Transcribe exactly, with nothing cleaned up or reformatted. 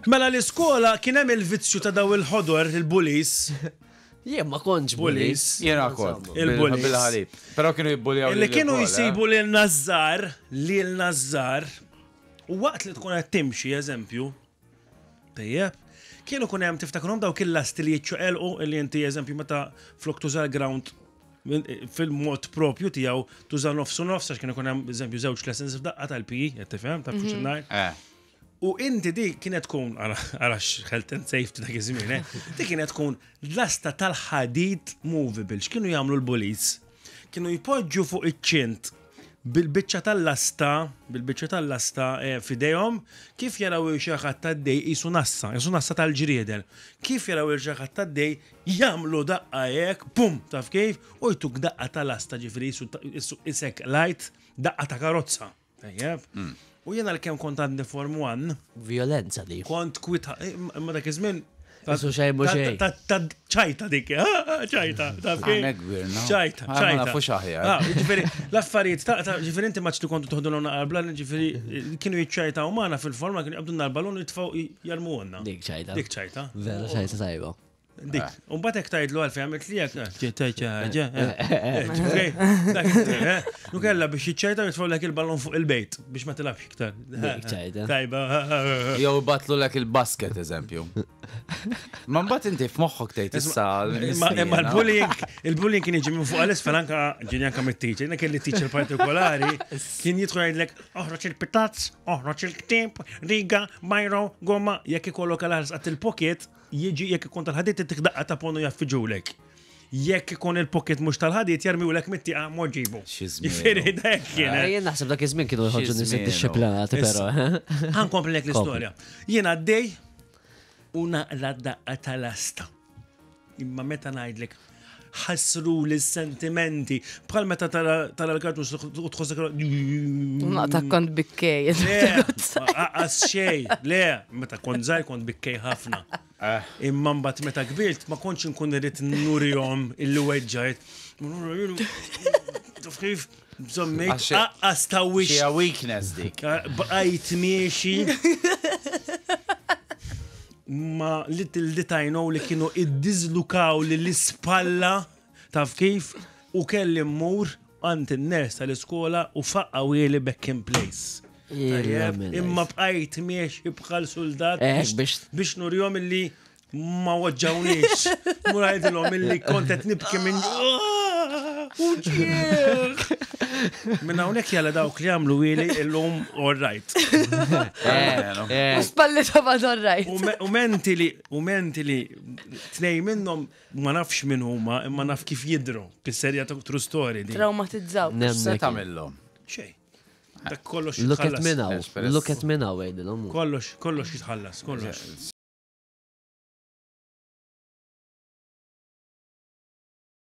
Mela l-iskola kien hemm il-vizzju ta' daw il-ħodor, il-bullies. Jien ma kontx Bullies. Jena kont. Il-bullies. Bil-ħalib. Pero kienu jibbuljaw. Illi kienu jisibu lil Nazzar, lil Nazzar, u waqt li tkun qed timxi, eżempju, tajjeb, kienu kun hemm, tiftakrhom dawk il-lasti li jiċċoqelqu, illi inti, eżempju, meta flok tuża l-ground min- fil-mod propju tiegħu tuża nofsu nofs, għax kienu kun hemm, eżempju, żewġ lessons f'daqqa tal-P E, qed tifhem, ta' fuq ngħid. Eh. U inti di kienet tkun, għarax health and safety dak iż-żmien, eh? Di kienet tkun lasta tal-ħadid movable. X'kienu jagħmlu l-bullies? Kienu jpoġġu fuq iċ-ċint bil-biċċa tal-lasta, bil-biċċa tal-lasta eh, f'idejhom, kif jaraw xi ħadd għaddej qisu nassa, qisu nassa tal-ġrieden. Kif jaraw xi ħadd għaddej jagħmlu daqqa hekk, pum, taf kif, u jtuk daqqa tal-lasta, ġifieri qisu isek light, daqqa ta' karozza. Tajjeb. U jena l-kem kont għadni Form one, Violenza di. kont kwita, eh, imma dak iż-żmien Isu xejn mhu ta- xejn. ta- ta- ċajta dik, ah, ċajta, taf kif? Għanek kbirna. ċajta, Ah, ma ċajta. nafux aħjar. Ah, ġifieri, l-affarijiet, ta' ta' ġifieri inti maċ li kontu toħdu l-għuna qabla, ġifieri, kienu jiċċajta u magħna fil-forma, kienu jqabdu l-ballon u jitfaw jarmu għonna. Dik ċajta. Dik ċajta. Vera ċajta tajba. Dik. U mbagħad hekk tgħidlu għalfejn għamilt li hekk, ċajta ħaġa. Ġifieri, dak eh, Nu kella biex jiċċajta jitfaw lek il-ballon fuq il-bejt biex ma tilabx iktar. Dik ċajta. Tajba. Jew batlu lek il-basket, eżempju. Ma mbagħad inti f'moħħok tgħid issa. Imma imma l-bullying, il-bullying kien jiġi minn fuq għal-isfel, anka ġini anka mit-teacher. Jena kelli teacher partikolari, kien jidħol jgħidlek, "Oħroġ il-pitazz, oħroġ il-ktib, riga, biro, gomma." Jekk ikollok għal għat il-pocket, jiġi jekk ikun tal-ħadid ittik daqqa ta' ponu jaffiġulek. Jekk ikun il-pocket mhux tal-ħadid jarmiwlek mit-tieqa mod ġibu. Xi żmien. Jiġifieri dak kien. Eh, Jien naħseb dak iż-żmien kienu jħorġu nies żmien, iddixxiplinati però. Ħa nkompli l-istorja. Jien għaddej u naqla daqqa tal-asta. Imma meta ngħidlek ħassru l-sentimenti bħal meta tara tara l-kartun u tħossok. Naqta kont bikkej. Le, aqas xej, le, meta kont żgħir kont bikkej ħafna. Imma mbagħad meta kbirt ma kontx inkun irrid nurihom illi weġġajt. Taf kif? Bżommejt, Għax- aqqas ta' wix. Xi weakness dik. Bqajt miexi. Ma little did I know li kienu iddizlukaw li l-ispalla, taf kif, u kelli mmur għand in-nurse tal-iskola u faqqawhieli back in place. Tajjeb, imma bqajt miexi bħal soldat Eh, biex biex- biex nurjom illi ma weġġawniex. Mur għajdilhom illi kont qed nibki minn uġieħ. Minn hawnhekk jalla dawk li għamlu ili illum all right. U spalli ta' mador right. U me- U mentili, u mentili, tnej minnhom ma nafx min huma, imma naf kif jidru. Pisserja ta' true story di. Traumatizzaw. Se Nemmek. tagħmilhom? Xej. Dak kollox Look at jitħallas. me now. Esperess. Look at me now, għidilhom. Kollox, kollox jitħallas, kollox.